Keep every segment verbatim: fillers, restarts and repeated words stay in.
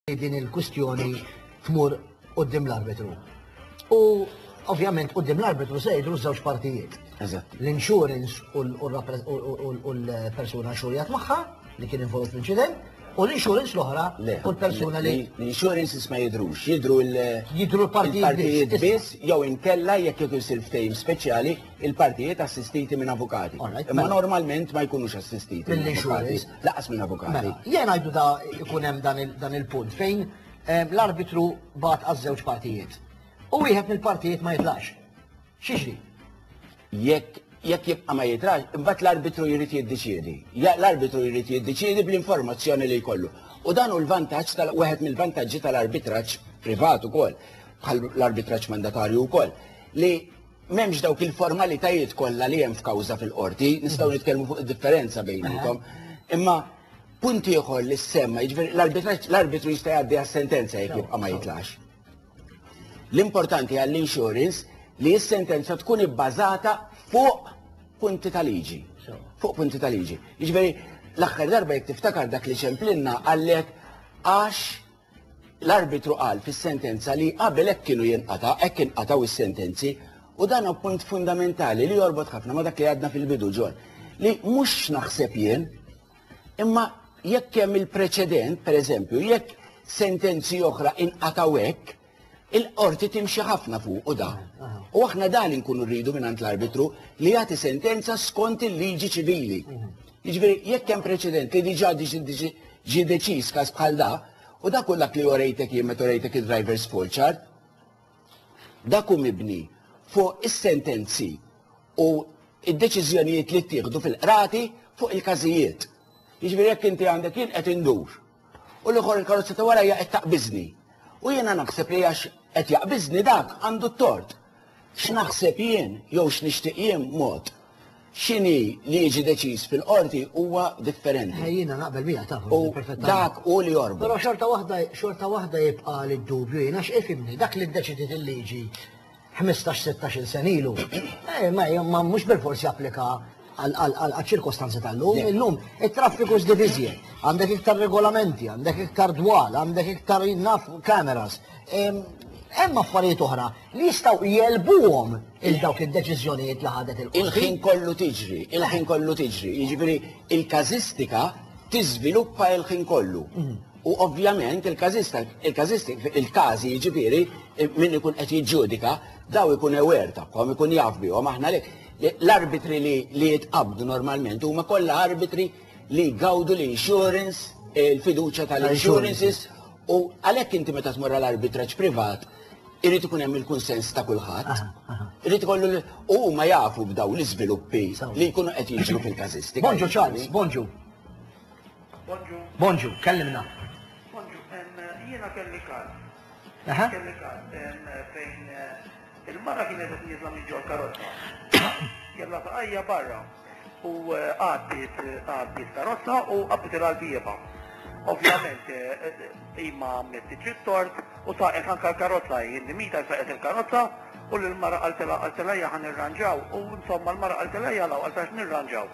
Din il-kwistjoni tmur quddiem l-arbitru. U ovvjament quddiem l-arbitru se jidhru żewġ partijiet. Eżatt. L-insurance u l- u l-rappre- u- u- u l-persuna inxurjat magħha li kien involut fl-inċident u l-insurance l-oħra Le, u l-persuna li l-insurance ma jidhrux, jidhru il- Jidhru l-partijiet il-partijiet biss. biss, jew inkella jekk ikun isir ftehim speċjali, il-partijiet assistiti minn avukati. Alright, Imma mela. normalment ma jkunux assistiti minn avukati. Mill-insurance. Lanqas minn avukati. Mela, jien għajdu da ikun hemm dan il- dan il-punt fejn eh, l-arbitru bagħat għaż-żewġ partijiet. U wieħed mill-partijiet ma jitlax. X'jiġri? Jekk jekk jibqa' ma jitlax, imbagħad l-arbitru jrid jiddeċiedi. Ja- L-arbitru jrid jiddeċiedi bl-informazzjoni li jkollu. U dan hu l-vantaġġ tal wieħed mill-vantaġġi tal-arbitraġġ privat ukoll, bħal l-arbitraġġ mandatarju wkoll, li m'hemmx dawk il-formalitajiet kollha li hemm f'kawża fil-qorti, nistgħu nitkellmu fuq id-differenza bejniethom. Imma punt ieħor li semma, jiġifieri l-arbitraġġ l-arbitru jista' jgħaddi għas-sentenza jekk jibqa' ma jitlax. L-importanti għall-insurance li s-sentenza tkun ibbażata fuq punti ta' liġi. Fuq punti ta' liġi. Jiġifieri l-aħħar darba, jekk tiftakar, dak li ċemplinna għallek għax l-arbitru qal fis-sentenza li qabel hekk kienu jinqata, hekk inqataw is-sentenzi, u dan hu punt fundamentali li jorbot ħafna ma dak li għadna fil-bidu ġol. Li mhux naħseb jien, imma jekk hemm il-preċedent, per eżempju, jekk sentenzi oħra inqataw hekk, il-qorti timxi ħafna fuq u da. U aħna dan inkunu rridu minn l-arbitru, li jagħti sentenza skont il-liġi ċivili. Jiġifieri jekk hemm preċedent li diġà diġi ġi deċiż każ bħal da, u dak dak li orejtek jien meta orejtek il-driver's fault chart, dak hu mibni fuq is-sentenzi u id-deċiżjonijiet li ttieħdu fil-qrati fuq il-każijiet. Jiġifieri jekk inti għandek jien qed indur u l-ieħor il-karozza ta' warajja qed taqbiżni. U jiena naħseb li għax qed jaqbiżni dak għandu t-tort. X'naħseb jien jew x'nixtieq jien mod. X'inhi li jiġi deċiż fil-qorti huwa differenti. Jiena naqbel miegħek ta' U dak u li jorbot. Però xorta waħda xorta waħda jibqa' li d-dubju jiena x'ifhimni dak li ddeċidiet il-liġi ħmistax sittax-il sena ilu. Eh, ma ma mhux bil-forsi japplika għal ċirkostanzi tal-lum. Illum it-traffiku żdied iżjed. Għandek iktar regolamenti, għandek iktar dwal, għandek iktar naf cameras. Hemm affarijiet oħra li jistgħu jegħlbuhom il dawk id-deċiżjonijiet li ħadet il-qorti. Il-ħin kollu tiġri, il-ħin kollu tiġri. Jiġifieri il-każistika tiżviluppa il-ħin kollu. U ovvjament il-każista, il-każistik, il-każi jiġifieri min ikun qed jiġġudika, daw ikun aware tagħhom, ikun jaf bihom. Aħna li l-arbitri li li jitqabdu normalment huma kollha arbitri li jgawdu l-insurance, il-fiduċja tal-insurances, u għalhekk inti meta tmur għall-arbitraġġ privat irid ikun hemm il-kunsens ta' kulħadd. Irid ikollu u huma jafu b'daw l-iżviluppi li jkunu qed jiġru fil-każistika. Bonġu Charles, bonġu. Bonġu. Bonġu, kellimna. Bonġu, jiena kelli każ. Aha. Kelli każ fejn eh, il-mara kienet qed nieżla minn ġol karozza. Kellha saqajja barra u eh, għaddiet għaddiet karozza u qabdet l-bieba. Ovvjament, eh, imma għamlet tort u saqet anka l-karozza, jien mita saqet il-karozza u l-mara qaltilha qaltilha ħa nirranġaw u insomma l-mara qaltilha jalaw qaltilha nirranġaw.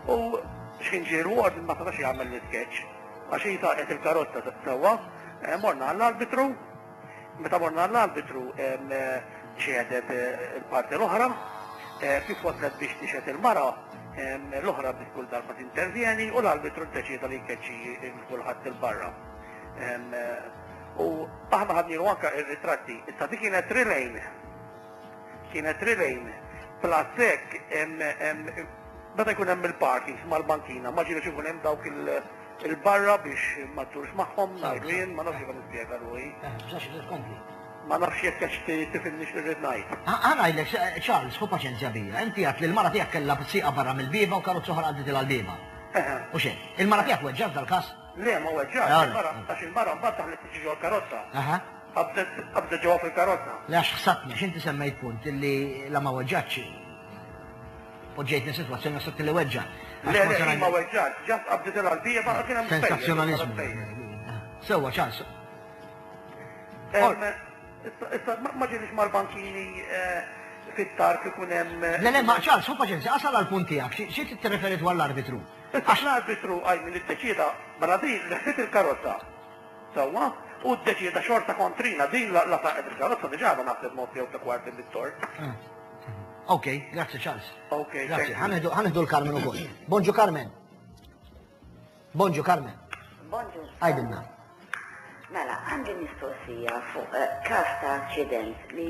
U x'kien ġie rward ma setax jagħmel l-sketch għax hi saqet il-karozza sewwa, eh, morna għall-arbitru, meta morna għall-arbitru xehdet il-parti l-oħra, eh, kif waslet biex tixhed il-mara, l-oħra biex kull darba tintervjeni u l-arbitru ddeċida li jkeċċi kulħadd il-barra. U aħna ħadnilu anka ir-ritratti. Issa dik kienet three lane. Kienet three lane. Plus hekk, meta jkun hemm il-parkings mal-bankina, ma ġielux ikun hemm dawk il-barra biex ma ddurx magħhom, ngħidu jien, ma nafx kif nispjega ruħi. Bżax tkompli. Ma nafx jekk qed tifhimni x'irrid ngħid. Ħa ngħidlek, Charles, ħu paċenzja bija. Inti għedt li l-mara tiegħek kellha sieqha barra mill-bieba u karozza oħra għaddiet il-bieba. U xejn, il-mara tiegħek weġġat dal-każ? Le, ma weġġat, il-mara, għax il-mara mbagħad daħlet tiġi ġol karozza. Qabdet qabdet ġewwa fil-karozza. Le, għax ħsatni, għax inti semmejt punt illi la ma weġġatx. Poġġejtni situazzjoni għasat li weġġa. Le, le, ma weġġat, ġast qabdet il-bieba, kien hemm Sensazzjonalizmu. Sewwa, Charles. Issa, ma ġielix mal-bankini fit-tarf ikun hemm. Le, le, ma Charles, ħu paċenzja, asal għal-punt tiegħek, xi tirreferi dwar l-arbitru? Għax l-arbitru għaj minn iddeċida, mela din leħħet il-karozza. Sewwa, U ddeċieda xorta kontrina, din la la saqet il-karozza diġà għadha naħseb mod jew ta' kwarti bit-tort. Ok, grazzi Charles. Ok, Grazzi, thank you. ħa nieħdu l-Carmen ukoll. Bonġu Carmen. Bonġu Carmen. Bonġu. Għidilna. Mela, għandi mistoqsija fuq eh, każ ta' aċċident li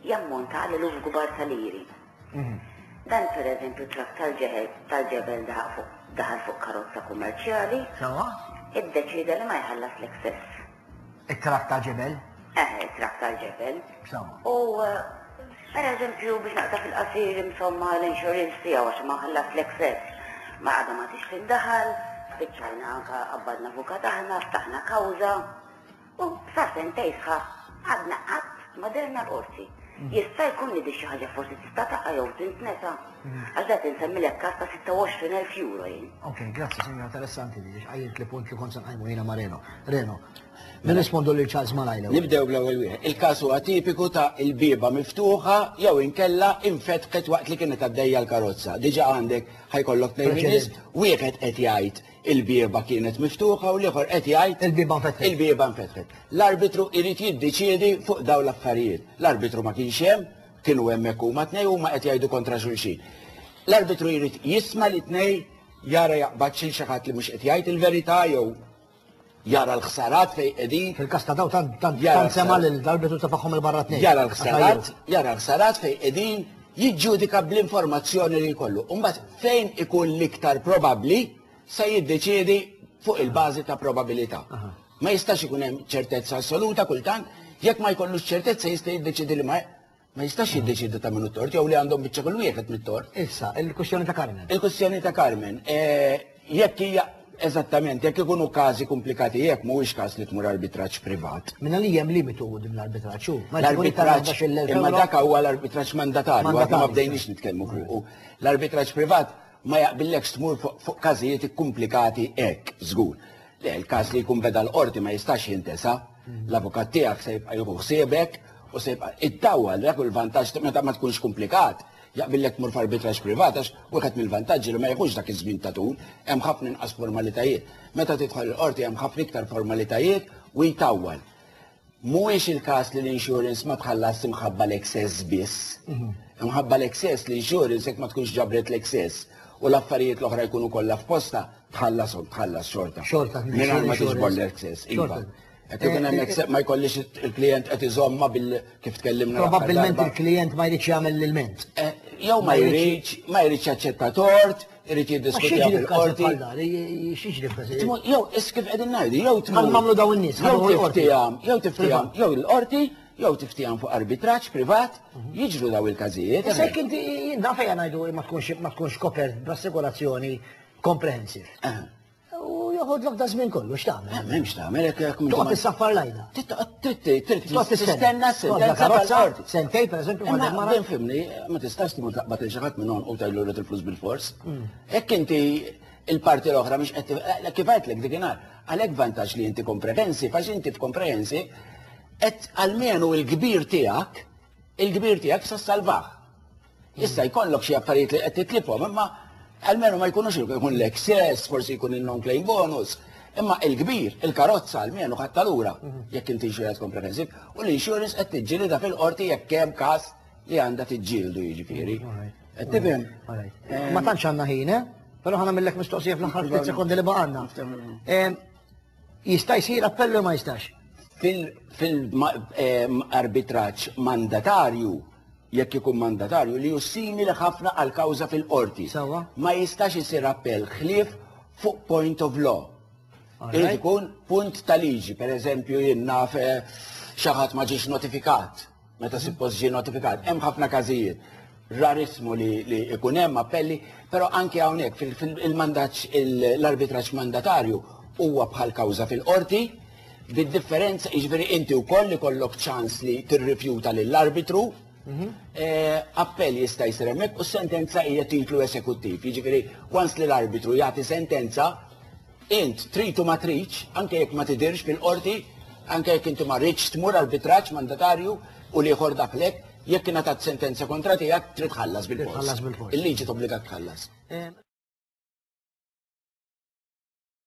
jammonta għal eluf kbar ta' liri. Dan per eżempju trakk tal-ġebel tal-ġebel daħal fuq daħal fuq karozza kummerċjali, Sewwa? iddeċida li ma jħallas l-excess. It-trakk ta' ġebel. Eh, trakk tal-ġebel. Sewwa. U eh, per eżempju biex naqta' fil-qasir insomma l-insurance tiegħu għax ma ħallas l-excess. Ma għadha ma tix tindaħal, spiċċajna anka qabbadna avukat aħna, ftaħna kawża. U sa sentejn sħaħ għadna qatt ma dehrna l-qorti. Jista' jkun li di xi ħaġa forsi tista' taqa' jew tintnesa. Għax da insemmilek każ ta' sitta u għoxrin elf euro jien. Ok, grazzi, signora, interessanti di, għajjimt li punt li kont se nqajmu jiena ma' Reno. Reno, nirrispondu lil Charles malajr. Nibdew bl-ewwel wieħed. Il-każ huwa tipiku ta' il-bieba miftuħa jew inkella infetħet waqt li kienet għaddejja l-karozza. Diġà għandek ħa jkollok tnejn min-nies, wieħed qed jgħid il-bieba kienet miftuħa u l-ieħor qed jgħid Il-bieba nfetħet. Il-bieba nfetħet. L-arbitru irid jiddeċiedi fuq dawn l-affarijiet. L-arbitru ma kienx hemm, kienu hemmhekk huma tnejn huma qed jgħidu kontra xulxin. L-arbitru jrid jisma' li tnejn, jara jaqbad xi ħadd li mhux qed jgħid il-verità jew jara l-ħsarat fejn qegħdin. Fil-każ ta' daw tant tant Jara tant sema l-ħsarat. l-arbitru tefagħhom 'il barra tnejn. Jara l-ħsarat, jara l-ħsarat fejn qegħdin, jiġġudika bl-informazzjoni li jkollu. Imbagħad fejn ikun l-iktar probabbli se jiddeċiedi fuq il-bażi ta' probabilità. Ma jistax ikun hemm ċertezza assoluta kultant, jekk ma jkollux ċertezza jista' jiddeċiedi li ma ma jistax jiddeċiedi ta' min tort jew li għandhom biċċa kull wieħed mit-tort. Issa, il-kwestjoni ta' Carmen. Il-kwestjoni ta' Carmen, eh, jekk hija eżattament, jekk ikunu każi komplikati, jekk mhuwiex każ li tmur arbitraġġ privat. Minna li hemm limitu din l-arbitraġġ. hu. Ma L-arbitraġġ, imma dak huwa l-arbitraġġ mandatarju, għadna ma Mandatarju. bdejniex nitkellmu fuq. L-arbitraġġ privat ma jaqbillekx tmur fuq fuq każijiet komplikati hekk, żgur. Le, il-każ li jkun beda l-qorti ma jistax jintesa, l-avukat tiegħek se jibqa' jieħu ħsiebek u se jibqa' ittawwal dak il-vantaġġ meta ma tkunx komplikat. Jaqbillek tmur f'arbitraġġ privat għax wieħed mill-vantaġġi li ma jieħux dak iż-żmien ta' tul, hemm ħafna inqas formalitajiet. Meta tidħol il-qorti hemm ħafna iktar formalitajiet u jtawwal. Mhuwiex il-każ li l-insurance ma tħallas imħabba l-excess biss. Imħabba l-excess, l-insurance jekk ma tkunx ġabret l-excess u l-affarijiet l-oħra jkunu kollha f'posta, tħallashom, tħallas xorta. Xorta, Mingħajr ma tiġbor insurance. l-excess. Iva. Xorta. Jekk ikun hemm excess ma jkollix il-klient qed iżomma bil kif tkellimna l-aħħar Probabbilment darba. il-klient ma jridx jagħmel l-ilment. Eh, Jew ma jridx, ma jridx jaċċetta tort, irid Ma jiddiskutija x'jiġri f'każ fil-qorti. bħal dan? X'jiġri f'każ? Tmu- Jew, is kif qegħdin ngħidu, jew tmur. Bħal m'għamlu dawn in-nies, Jew ħadu l-qorti. tiftijam, jew tiftijam, jew l-qorti, jew tiftijam fuq arbitraġġ privat, jiġru daw il-każijiet. Issa jekk inti jien naf ejja ngħidu ma tkunx ma tkunx kopert b'assigurazzjoni comprehensive. Eh, U joħodlok da żmien kollu, x'tagħmel? M'hemmx tagħmel hekk jekk Toqgħod tissaffar lajna. Trid trid Toqgħod tistenna tistenna. sentenza Karozza, tal-qorti. sentej pereżempju ma Imma mara. ben fimni, ma tistax tmur taqbad il xi ħadd minn u tgħidlu rrid il-flus bil-fors. Jekk inti il-parti l-oħra mhix qed eh, kif għedtlek dikinhar, għalhekk vantaġġ li inti comprehensive, għax inti f'comprehensive qed almenu il-kbir tiegħek, il-kbir tiegħek sa salvah. Issa jkollok xi affarijiet li qed titlifhom, imma almenu ma jkunux jkun l-excess, forsi jkun il-non-claim bonus. Imma il-kbir, il-karozza almenu ħatta lura jekk inti insurance comprehensive u l-insurance qed tiġġielida fil-qorti jekk hemm każ li għandha tiġġieldu jiġifieri. Qed tifhem? Alright. Ma tantx għandna ħin, eh? Però ħa nagħmillek mistoqsija fl-aħħar ftit sekondi li baqgħalna. Em, Jista' jsir appellu ma jistax? Fil-arbitraġġ mandatarju, jekk ikun mandatarju, li hu simili ħafna għal kawża fil-qorti. Sewwa. Ma jistax isir appell ħlief fuq point of law. Irid ikun punt ta' liġi, per eżempju jien naf eh, xi ħadd ma ġiex notifikat, meta suppost ġie notifikat. Hemm ħafna każijiet. Rarissmu li, li ikun hemm appelli, però anke hawnhekk fil-mandaċ l-arbitraġġ mandatarju huwa bħal kawża fil-qorti, bid-differenza jiġifieri inti wkoll ikollok ċans li tirrifjuta lill-arbitru, eh, appell jista' jsir hemmhekk u s-sentenza hija titlu esekuttiv. Jiġifieri once li l-arbitru jagħti sentenza, int trid u ma tridx, anke jekk ma tidirx fil-qorti, anke jekk inti ma rridx tmur arbitraġġ mandatarju u l-ieħor daħlek, jekk ingħatat sentenza kontra tiegħek trid tħallas bil-fors. Tħallas bil-fors. Il-liġi tobbliga tħallas. Em,